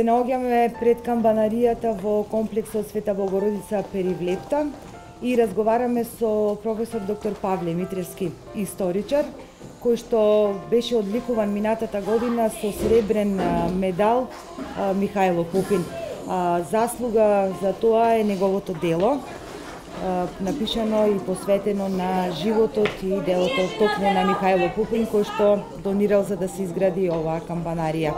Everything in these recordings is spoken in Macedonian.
наоѓаме пред камбанаријата во комплексот Света Богородица Перивлепта и разговараме со професор доктор Павле Митревски, историчар, кој што беше одликуван минатата година со сребрен медал Михајло Пупин. Заслуга за тоа е неговото дело, напишано и посветено на животот и делото токму на Михајло Пупин, кој што донирал за да се изгради оваа камбанарија.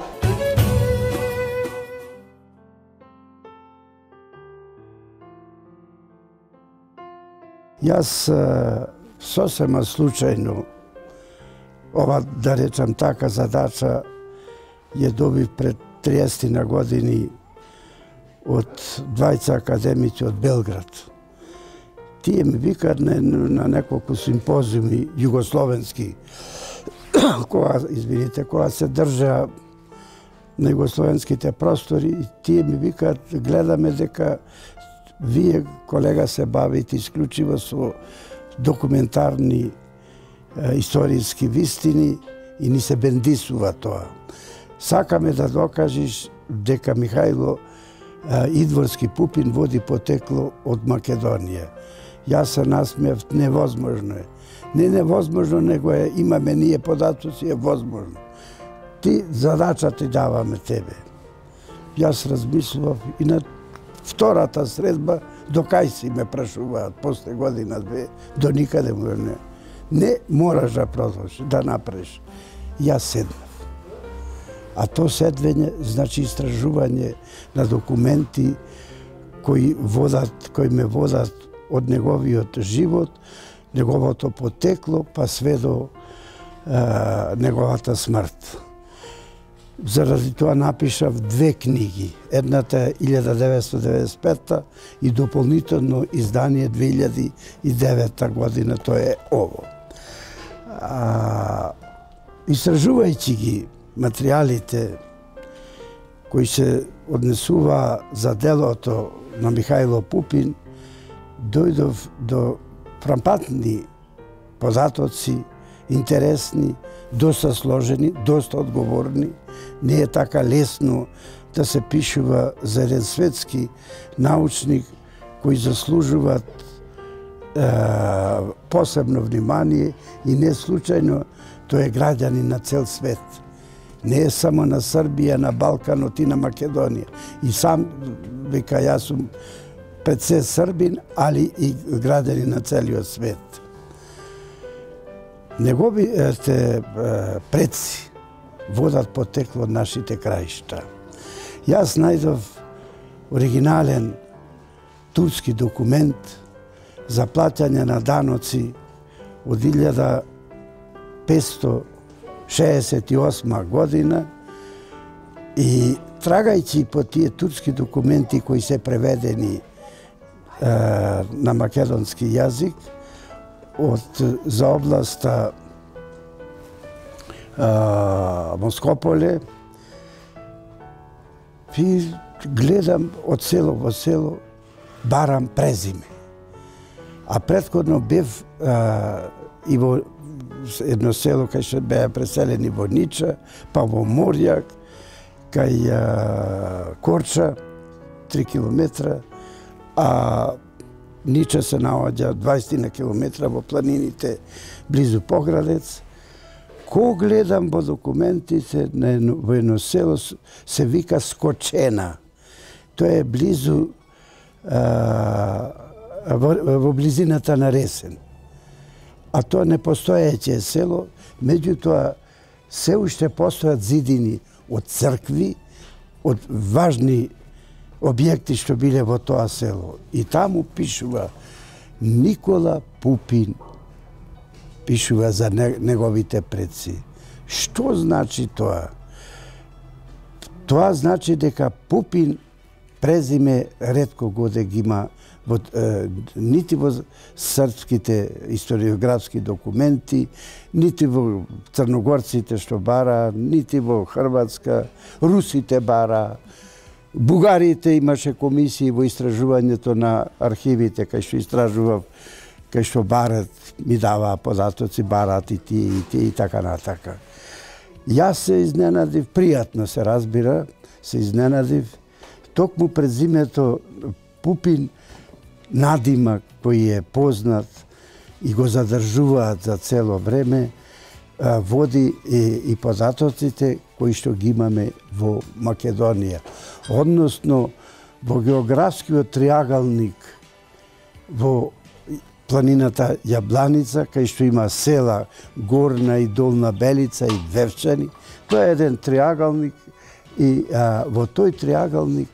Јас сосема случајно ова, да речам така, задача ја добив пред 30 на години од двајца академици од Белград. Тие ми викаат на неколку симпозиуми југословенски, кога се држа на југословенските простори, и тие ми викаат, гледаме дека вие, колега, се бавите исклучиво со документарни историски вистини и ни се бендисува тоа. Сакаме да докажеш дека Михајло Идворски Пупин води потекло од Македонија. Јас се насмеав, невозможно е. Не невозможно, него е, имаме ние податоци, е возможно. Ти задача ти даваме тебе. Јас размислував и на втората средба, до кај си ме прашуваат, после година-две, до никаде му не. Не мораш да продолжиш, да направиш. Јас седнав. А то седвење значи истражување на документи кои ме водат од неговиот живот, неговото потекло, па све до неговата смрт. Заради тоа напишав 2 книги. Едната е 1995 и дополнително издание 2009 година, тоа е ово. Истражувајќи ги материјалите кои се однесува за делото на Михајло Пупин, дојдов до фрапантни податоци, интересни, доста сложени, доста одговорни. Не е така лесно да се пишува за еден светски научник кои заслужуваат посебно внимание и не случајно тој е граѓанин на цел свет. Не е само на Србија, на Балканот и на Македонија. И сам вика, јас сум пред се србин, али и граѓанин на целиот свет. Неговите предци водат потекло од нашите краишта. Јас најдов оригинален турски документ за плаќање на даноци од 1568 година и трагајќи по тие турски документи кои се преведени на македонски јазик за областа Москополе, и гледам од село во село, барам презиме. А претходно бев и во едно село кај што беа преселени во Нича, па во Морјак, кај Корча, 3 километра, а Нича се наоѓа 20 на километра во планините близу Поградец. Ко гледам во документите во едно село се вика Скочена. Тоа е близу во близината на Ресен. А тоа не постоеќе село, меѓутоа се уште постојат зидини од цркви, од важни објекти што биле во тоа село. И таму пишува Никола Пупин, пишува за неговите предци. Што значи тоа? Тоа значи дека Пупин презиме ретко годе ги има нити во српските историографски документи, нити во црногорците што бара, нити во Хрватска, русите бара, бугарите имаше комисии во истражувањето на архивите, кај што истражував, кај што барат, ми даваа податоци, барат и тие и така натака. Јас се изненадив, пријатно се разбира, се изненадив. Токму пред зимето Пупин надимак кој е познат и го задржуваат за цело време, води и податоците кои што ги имаме во Македонија. Односно, во географскиот триагалник во планината Јабланица, кај што има села Горна и Долна Белица и Вевчани, тоа е еден триагалник и во тој триагалник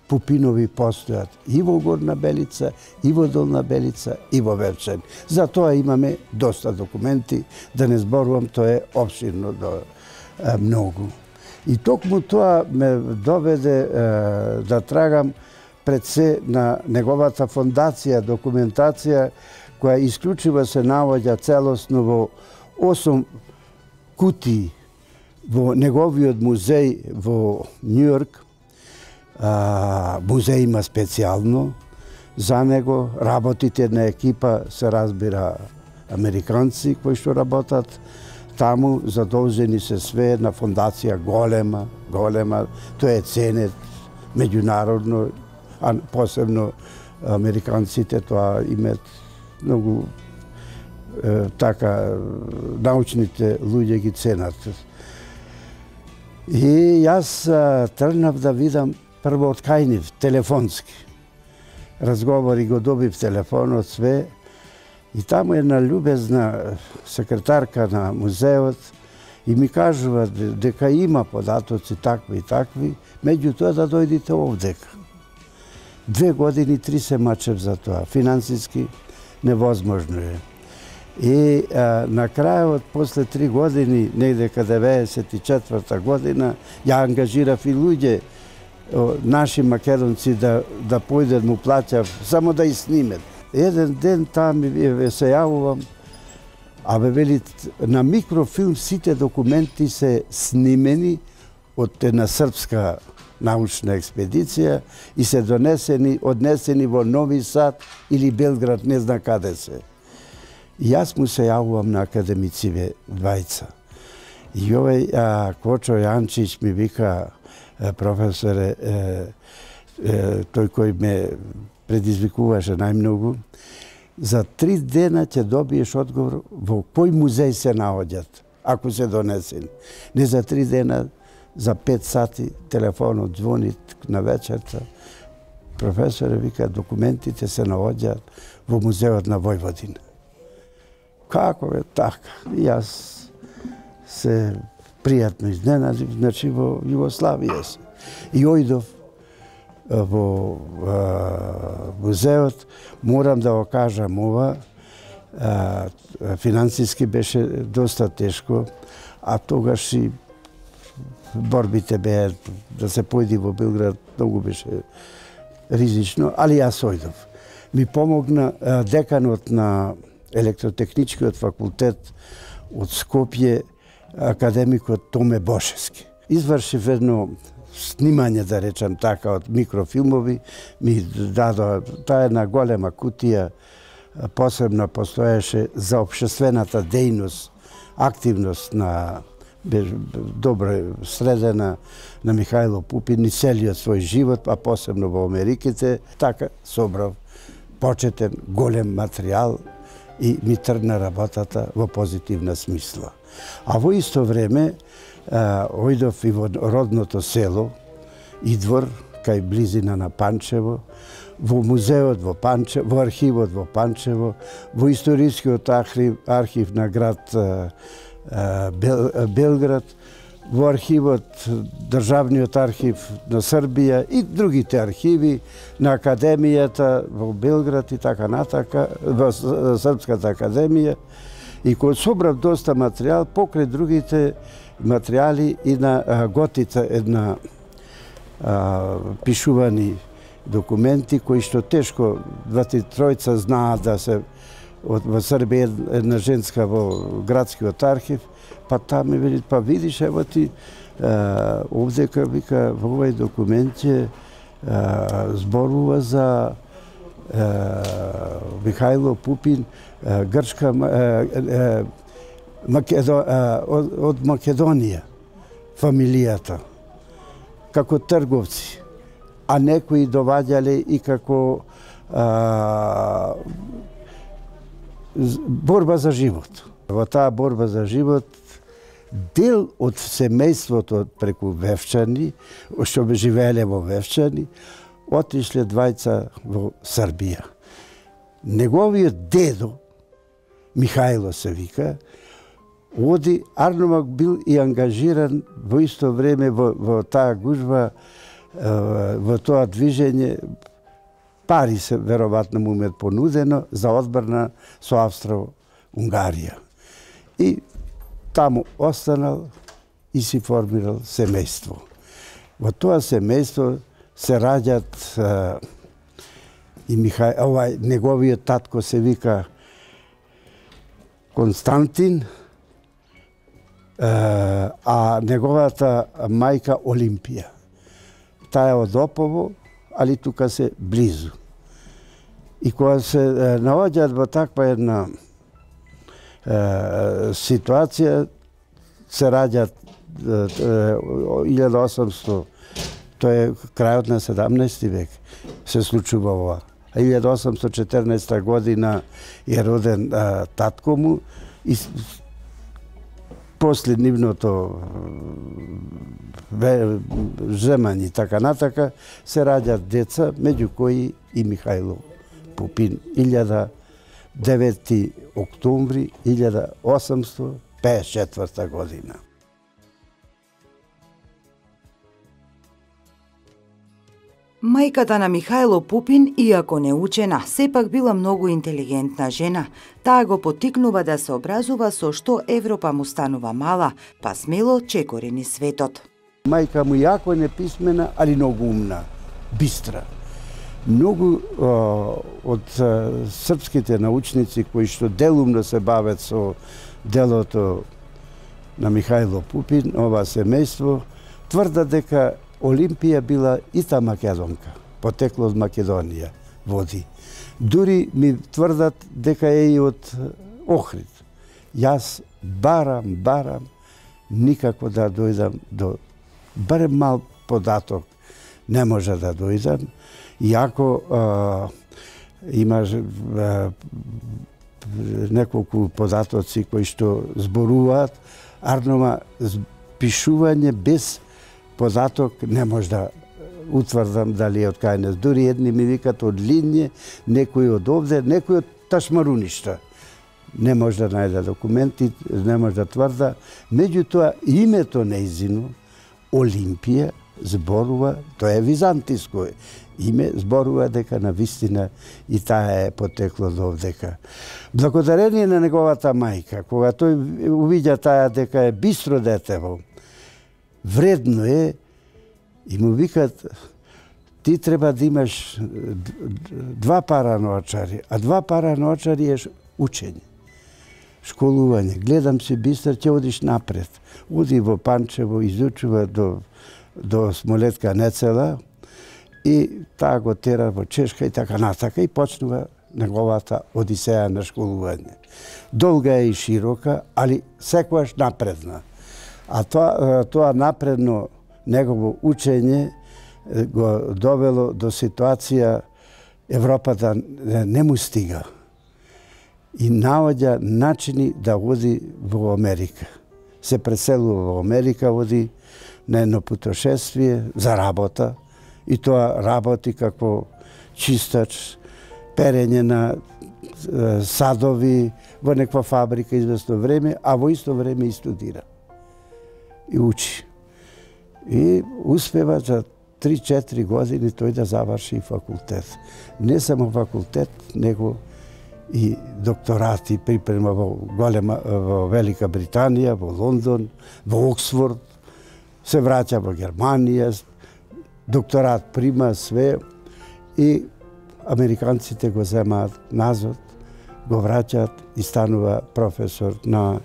Пупинови постојат и во Горна Белица, и во Долна Белица, и во Вевчани. За тоа имаме доста документи, да не зборувам, тоа е опширно до многу. И токму тоа ме доведе да трагам пред се на неговата фондација, документација, која исклучиво се наоѓа целосно во 8 кутии во неговиот музеј во Њујорк. Музеј има специјално за него, работите на екипа се разбира американци кои што работат таму, задолжени се све на фондација голема, тоа е ценет меѓународно, а посебно американците тоа имат многу така научните луѓе ги ценат. И јас тргнав да видам прво откајнив телефонски. Разговори го добив телефонот све и таму една љубезна секретарка на музеот и ми кажува дека има податоци такви и такви, меѓутоа да дојдите овдека. 2 години, 3 се мачев за тоа. Финансиски невозможно е. И на крајот, после 3 години, негде каде 94-та година, ја ангажирав и луѓе, наши македонци да појдат му плаќав, само да и снимет. Еден ден там се јавувам, вели, на микрофилм сите документи се снимени од една српска научна експедиција и се однесени во Нови Сад или Белград, не знам каде се. И јас му се јавувам на академициве двајца. И овој Кочо Јанчич ми вика, професоре, тој кој ме предизвикуваше најмногу, за 3 дена ќе добиеш одговор во кој музеј се наоѓат, ако се донесени. Не за 3 дена, за 5 сати телефонот звони на вечерта. Професоре, вика, документите се наоѓаат во музеот на Војводина. Како е така? И јас се пријатно изненадив, значи во Југославија се. И ојдов во музеот, морам да го кажам ова, финансиски беше доста тешко, а тогаш и борбите беа да се појди во Белград, многу беше ризично, али јас ојдов. Ми помогна деканот на електротехничкиот факултет од Скопје, академикот Томе Бошевски. Извршив едно снимање, да речам така, од микрофилмови, ми дадоа, таа една голема кутија, посебно постоеше за општествената дејност, активност на добро средена на Михајло Пупин и целиот свој живот, а посебно во Америките, така собрав почетен голем материјал и ми тргна работата во позитивна смисла. А во исто време ојдов и во родното село Идвор, кај близина на Панчево, во музеот во Панчево, во архивот во Панчево, во историскиот архив на град Белград, во архивот, Државниот архив на Србија и другите архиви на Академијата во Белград и така натака, во Српската академија. И кој собрав доста материјал, покрај другите материјали и на Готица една пишувани документи кои што тешко 2-3 знаат да се во Србија една женска во градскиот архив, па таа ми вели, па видиш, ево ти, овдека, вика, во овој документ зборува за Михајло Пупин, грчка, од Македонија, фамилијата. како трговци, а некои доваѓале и како борба за живот. Во таа борба за живот дел од семејството преку Вевчани, што живееле во Вевчани, отишле двајца во Србија. Неговиот дедо, Михајло се вика, оди, Арномак бил и ангажиран во исто време во таа гужва, во тоа движење. Пари се веројатно му ме понудено за одбрана со Австро-Унгарија. И таму останал и си формирал семејство. Во тоа семејство се раѓат и неговиот татко се вика Константин, а неговата мајка Олимпија. Таа е од Опово, али тука се близу. И кога се наоѓаат во таква една ситуација, се раѓат 1800, тоа е крајот на 17 век, се случува ова. А 1814 година е роден татко му и после нивното земање така натака се раѓаат деца, меѓу кои и Михајло Пупин, 9 октомври 1854 година. Мајката на Михајло Пупин, иако не учена, сепак била многу интелигентна жена. Таа го поттикнува да се образува со што Европа му станува мала, па смело чекори низ светот. Мајка му јако неписмена, али многу умна, бистра. Многу од српските научници кои што делумно се бават со делото на Михајло Пупин, ова семејство, тврдат дека Олимпија била и та македонка, потекло од Македонија, води. Дури ми тврдат дека е и од Охрид. Јас барам, никако да дојдам до барем мал податок не може да дојдам, иако има неколку податоци кои што зборуваат, Арнома пишување без податок не може да утврдам дали е од кај. Дури едни ми викат од Линје, некои од овде, некои од Ташмаруништа. Не може да најде документи, не може да тврда. Меѓутоа, името нејзино, Олимпија, зборува, тоа е византиско име, зборува дека на вистина и таа е потекло до овдека. Благодарение на неговата мајка, кога тој увиѓа таа дека е бистро детево, вредно е, и му викат, ти треба да имаш 2 пара ноочари, а 2 пара ноочари е учење, школување. Гледам си бистар, ќе одиш напред. Оди во Панчево, изучува до Смолетка Нецела и таа го тера во Чешка и така натака и почнува неговата одисеја на школување. Долга е и широка, али секогаш напредна. А тоа напредно негово учење го довело до ситуација Европа да не му стига. И наоѓа начини да оди во Америка. Се преселува во Америка, оди на едно путешествие за работа. И тоа работи како чистач, перење на садови во неква фабрика известно време, а во исто време и студира. И учи. И успева за 3-4 години тој да заврши факултет. Не само факултет, него и докторати припрема во Велика Британија, во Лондон, во Оксфорд, се враќа во Германија, докторат прима све и американците го земаат назад, го враќаат и станува професор на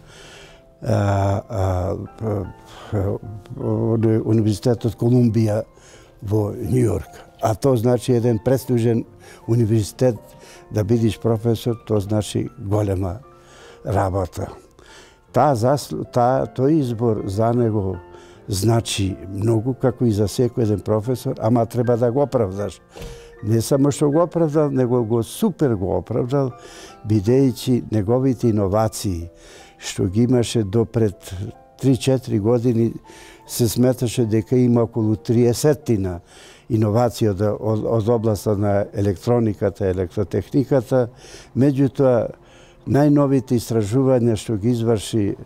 Универзитетот Колумбија во Њујорк. А тоа значи еден престижен универзитет, да бидиш професор, тоа значи голема работа. Тој избор за него значи многу, како и за секој еден професор, ама треба да го оправдаш. Не само што го оправдал, него го супер го оправдал, бидејќи неговите иновации, што ги имаше до пред 3-4 години, се сметаше дека има околу 30 иновации од областа на електрониката, електротехниката. Меѓутоа, најновите истражувања што ги изврши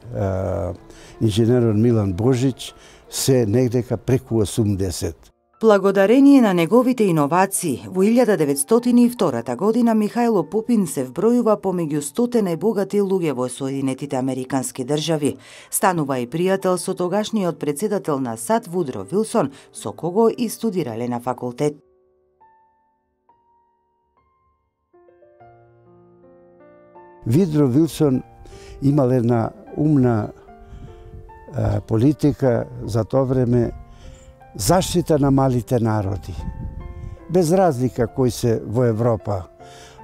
инженерот Милан Божич се негдека преку 80. Благодарение на неговите иновации, во 1902 година Михајло Пупин се вбројува помеѓу 100 најбогати луѓе во Соединетите Американски држави. Станува и пријател со тогашниот председател на САД Вудро Вилсон, со кого и студирале на факултет. Вудро Вилсон имал една умна политика за тоа време, заштита на малите народи, без разлика кои се во Европа,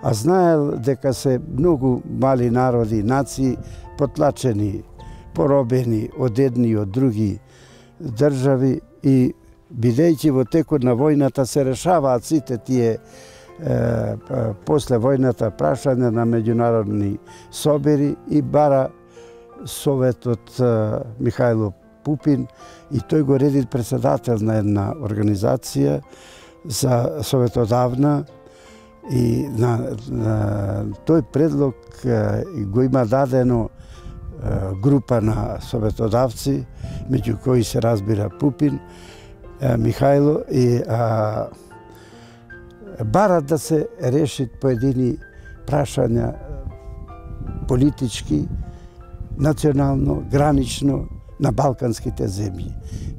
а знаел дека се многу мали народи, нации потлачени, поробени од едни и од други држави и бидејќи во текот на војната се решаваат сите тие после војната прашања на меѓународни собери и бара Советот Михајло Пупин и тој го реди председател на една организација за советодавна и на тој предлог го има дадено група на советодавци, меѓу кои се разбира Пупин, Михајло и барат да се решат поедини прашања политички, национално, гранично, на балканските земји,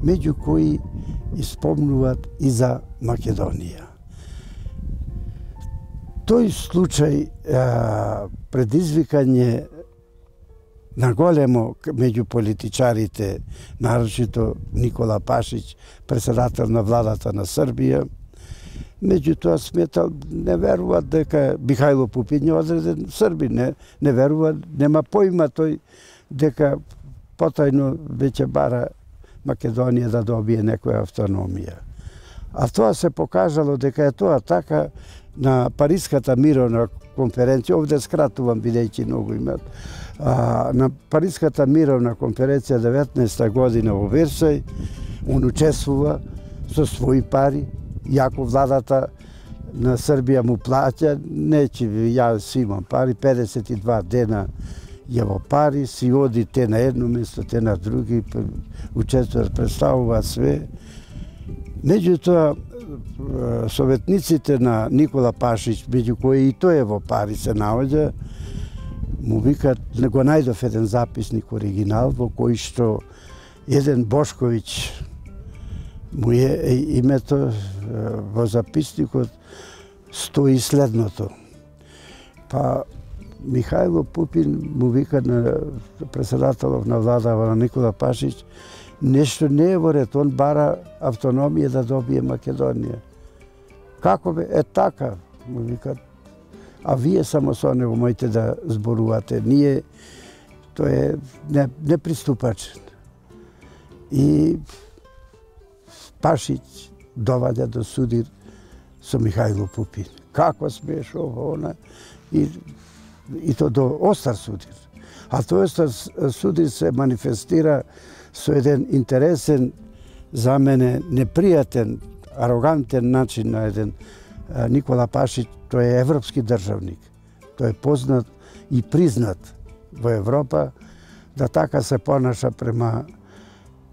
меѓу кои испомнуваат и за Македонија. Тој случај предизвикање на големо меѓу политичарите, нарочито Никола Пашич, председател на владата на Србија, меѓутоа сметал, не веруваат дека Михајло Пупин е одреден Србин, не верува, нема поима тој дека потајно веќе бара Македонија да добие некоја автономија. А тоа се покажало дека е тоа така на Париската мировна конференција, овде скратувам бидејќи многу имат, на Париската мировна конференција 19 година во Версај, он учествува со своји пари, јако владата на Србија му плаќа, нечи јас имам пари, 52 дена ја во пари, си оди те на едно место, те на други, учествуваат, представуваат све. Меѓутоа, советниците на Никола Пашич, меѓу кои и тој е во пари се наоѓа, му викат, го најдов еден записник оригинал во кој што еден Бошковиќ му е името, во записникот стои следното. Па Михајло Пупин му вика на председателов на владава на Никола Пашич, нешто не е во ред, он бара автономија да добие Македонија. Како бе? Е така, му викат. А вие само со него моите да зборувате. Ние, тој е неприступачен. И Пашич доваѓа до судир со Михајло Пупин. Како смеш ово, она? И то до остар судир. А тој остар судир се манифестира со еден интересен, за мене непријатен, арогантен начин на еден Никола Пашич. Тој е европски државник. Тој е познат и признат во Европа да така се понаша према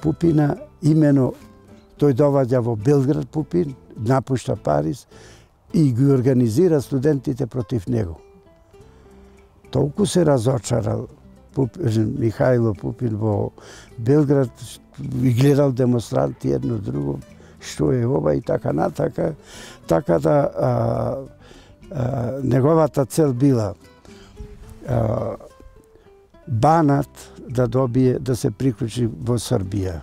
Пупина. Имено тој доваѓа во Белград Пупин, напушта Париз и ги организира студентите против него. Толку се разочарал Михајло Пупин во Белград и гледал демонстранти едно друго, што е ова и така натака, така да неговата цел била Банат да добие, да се приклучи во Србија.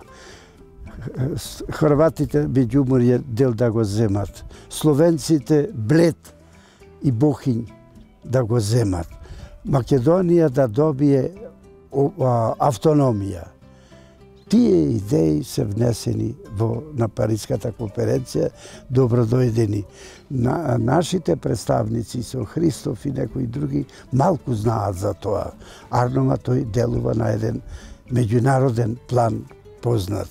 Хрватите меѓуморје дел да го земат. Словенците Блед и Бохињ да го земат. Македонија да добие автономија. Тие идеи се внесени на Париската конференција, добродојдени. Нашите представници со Христоф и некои други малку знаат за тоа. Арнома тој делува на еден меѓународен план познат.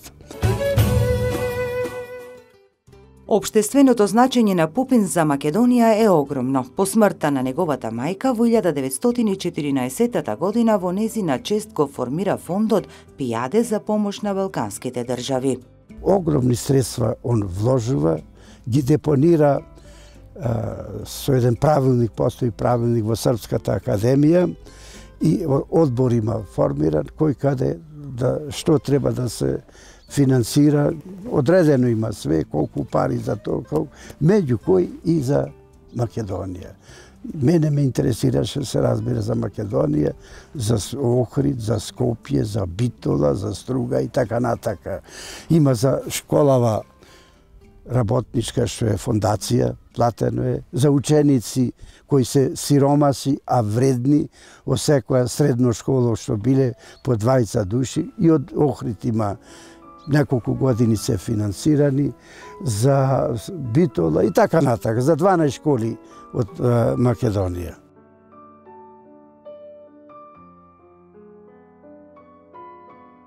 Општественото значење на Пупин за Македонија е огромно. По смртта на неговата мајка во 1914 година во незина чест го формира фондот Пијаде за помош на балканските држави. Огромни средства он вложува, ги депонира со еден правилник, постои правилник во Српската академија и одбор има формиран кој каде што треба да се финансира, одредено има све, колку пари за тоа, меѓу кој и за Македонија. Мене ме интересираше, се разбира, за Македонија, за Охрид, за Скопје, за Битола, за Струга и така натака. Има за школава работничка, што е фондација, платено е, за ученици кои се сиромаси, а вредни, во секоја средно школа што биле по 20 души, и од Охрид има неколку години се финансирани, за Битола и така натака, за 12 школи од Македонија.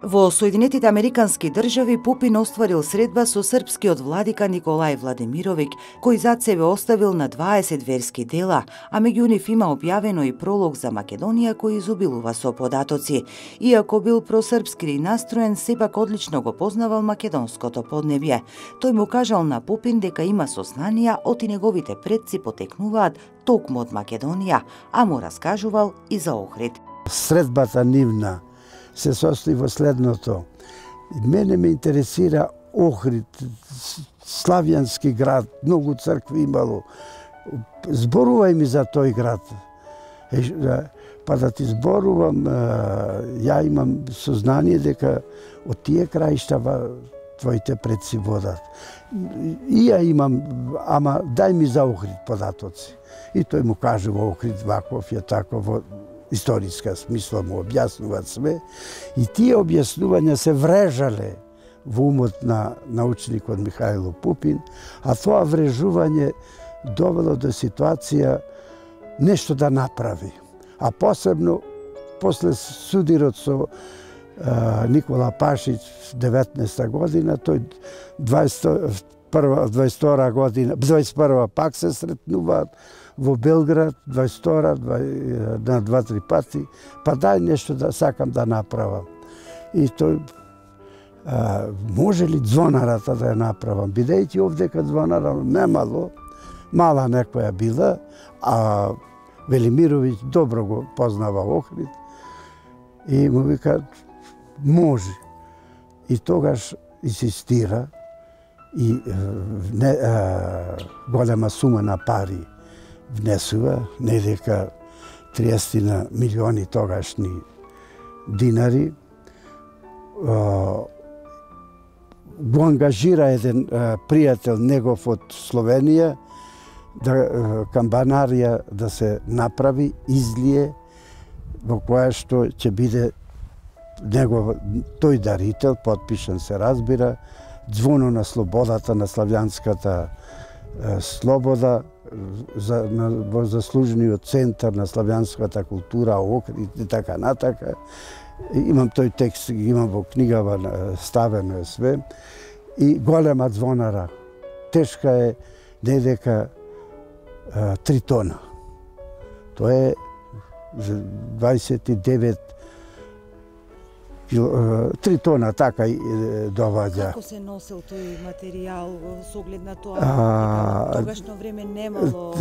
Во Соединетите Американски држави Пупин остварил средба со српскиот владика Николај Владимировиќ, кој зад себе оставил на 20 верски дела, а меѓу нив има објавено и пролог за Македонија кој изобилува со податоци. Иако бил просрпски настроен, сепак одлично го познавал македонското поднебје. Тој му кажал на Пупин дека има сознанија од и неговите предци потекнуваат токму од Македонија, а му раскажувал и за Охрид. Средбата нивна се состои во следното. Мене ме интересира Охрид, славјански град, многу цркви имало. Зборувај ми за тој град. Па да ти зборувам, ја имам сознание дека од тие краишта твоите предци водат. И ја имам, ама дај ми за Охрид податоци. И тој му кажува Охрид ваков е тако во историска смисла, му објаснуваат све, и тие објаснувања се врежале во умот на научникот Михајло Пупин, а тоа врежување довело до ситуација нешто да направи. А посебно, после судирот со Никола Пашич 19 година, тој 22 година, 21 пак се сретнуваат во Белград, 22 на 2-3 пати, па дај нешто да сакам да направам. И тој, може ли ѕвонарата да ја направам? Бидејќи овдека ѕвонара немало, мала некоја била, а Велимировиќ добро го познава Охрид, и му вика, може. И тогаш инсистира и голема сума на пари внесува, не дека 30 милиони тогашни динари. Го ангажира еден пријател негов од Словенија, камбанарија да се направи, излие, во која што ќе биде тој дарител, потпишан се разбира, ѕвоно на слободата, на славјанската слобода, во заслужениот центар на славјанската култура, Охрид и така натака. Имам тој текст, имам во книгава, ставено е све. И голема ѕвонара, тешка е не дека 3 тона. Тоа е 29 3 тона, така и доваѓа. Како се носел тој материјал со оглед на тоа? Тогашно време немало...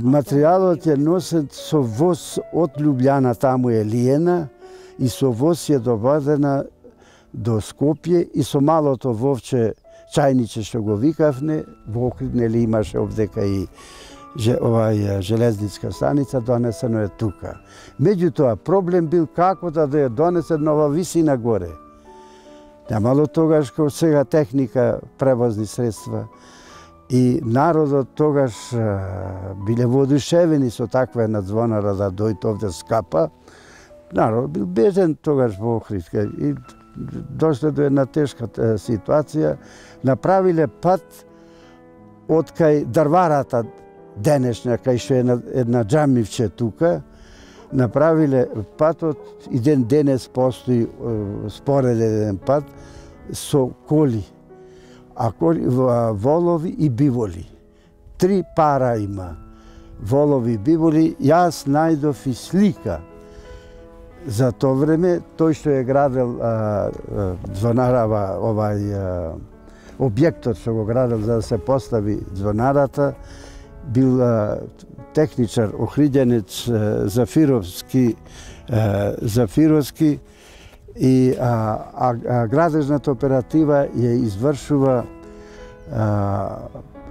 Материјалот е носен со воз од Лјубљана, таму е Лиена, и со воз е доведена до Скопје, и со малото вовче чајниче што го викавне, во Охрид, нели имаше овдека и железниска станица, донесено е тука. Меѓутоа, проблем бил како да ја донесе нова висина горе. Немало тогаш како сега техника, превозни средства. И народот тогаш биле воодушевени со таква една ѕвонара да дојде овде скапа. Народ бил бежен тогаш во Охрид. И дошле до една тешка ситуација, направиле пат од кај дрварата денешна, кај што е една џамивче тука, направиле патот и денес постои спореден пат со коли, волови и биволи. 3 пара има. Волови и биволи. Јас најдов и слика за тоа време, тој што е градел звонарава, објектот што го градел за да се постави звонарата, бил техничар, охриѓенец Зафировски и градежната оператива ја извршува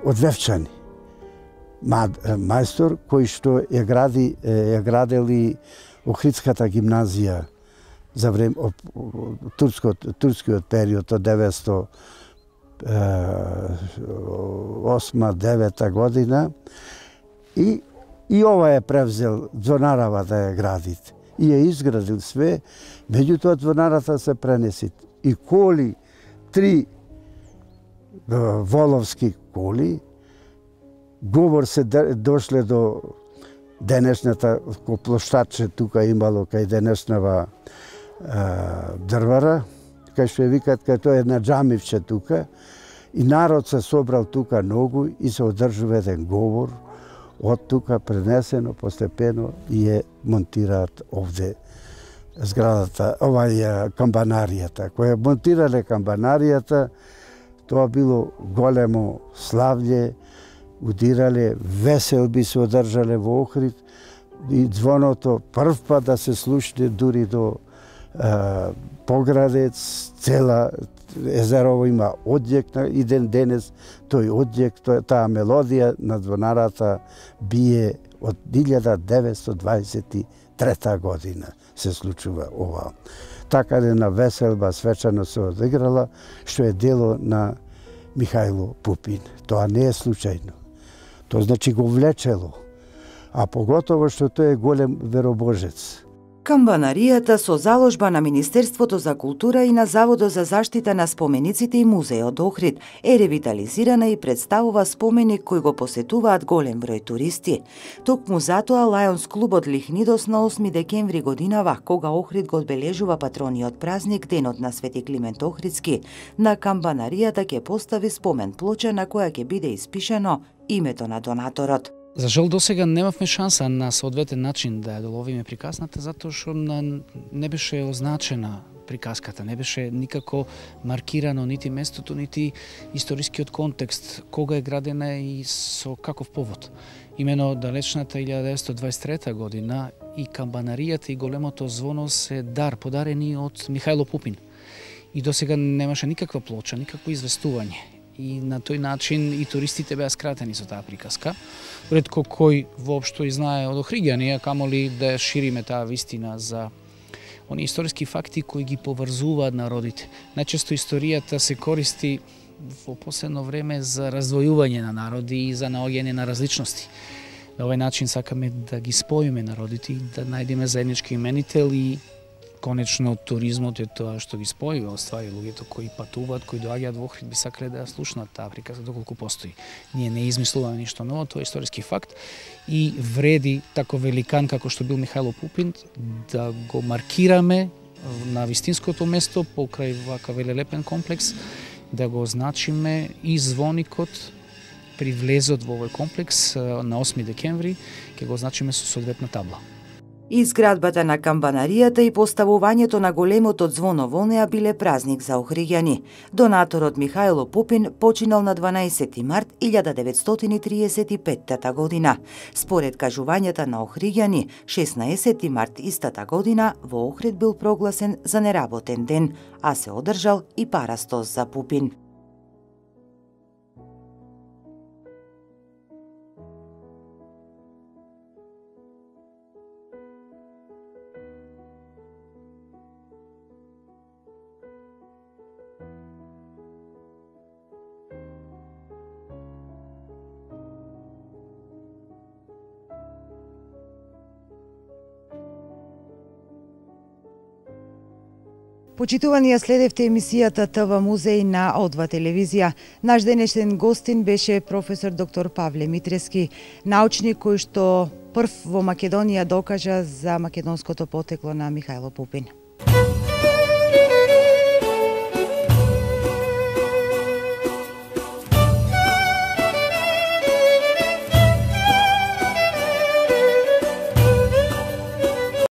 од Вевчани. Мајстор кој што ја градел и Охридската гимназија за време турскиот период од 908-9 година и ова е превзел звонарава да ја гради. И ја изградил све, меѓутоа звонарата се пренеси. И коли, 3 воловски коли, говор се дошле до денешната площадче тука имало кај денешнава дрвара, кај што ја викат кај тоа една џамивче тука, и народ се собрал тука многу и се одржува еден говор од тука пренесено постепено и ја монтираат овде зградата, камбанаријата. Која монтирале камбанаријата, тоа било големо славле, удирале, веселби се одржале во Охрид и звоното прв пат да се слушне дури до Поградец, цела езерово има одјек и денес тој одјек, таа мелодија на звонарата бие од 1923 година се случува ова. Така една веселба свечано се одиграла, што е дело на Михајло Пупин. Тоа не е случајно. Тоа значи го влечело, а поготово што тој е голем веробожец. Камбанаријата со заложба на Министерството за култура и на Заводот за заштита на спомениците и музеот Охрид е ревитализирана и представува споменик кој го посетуваат голем број туристи. Токму затоа Лајонс клубот Лихнидос на 8 декември годинава, кога Охрид го одбележува патрониот празник, денот на Свети Климент Охридски, на камбанаријата ќе постави спомен плоча на која ќе биде испишено името на донаторот. За жал досега немавме шанса на соодветен начин да ја доловиме приказната, затоа што не беше означена приказката, не беше никако маркирано нити местото, нити историскиот контекст, кога е градена и со каков повод. Имено далечната 1923 година и камбанаријата и големото звоно се подарени од Михајло Пупин. И досега немаше никаква плоча, никакво известување. И на тој начин и туристите беа скратени со таа приказка. Ретко кој воопшто и знае од Охриѓани, камоли да шириме таа вистина за оние историски факти кои ги поврзуваат народите. Најчесто историјата се користи во последно време за раздвојување на народи и за наоѓање на различности. На овој начин сакаме да ги споиме народите и да најдеме заеднички именител и конечно туризмот е тоа што ги спојува, оствари луѓето кои патуваат, кои доаѓаат во Охрид, би сакале да ја слушнат таа приказка доколку постои. Ние не измислуваме ништо ново, тоа е историски факт и вреди тако великан како што бил Михајло Пупин да го маркираме на вистинското место покрај вака велелепен комплекс, да го означиме и звоникот при влезот во овој комплекс на 8 декември, ќе го означиме со соодветна табла. Изградбата на камбанаријата и поставувањето на големото звоно во неа биле празник за охриѓани. Донаторот Михајло Пупин починал на 12 март 1935 година. Според кажувањата на охриѓани, 16 март истата година во Охрид бил прогласен за неработен ден, а се одржал и парастос за Пупин. Почитувани, ја следевте емисијата ТВ Музеј на О2 телевизија. Наш денешен гостин беше професор доктор Павле Митрески, научник кој што прв во Македонија докажа за македонското потекло на Михајло Пупин.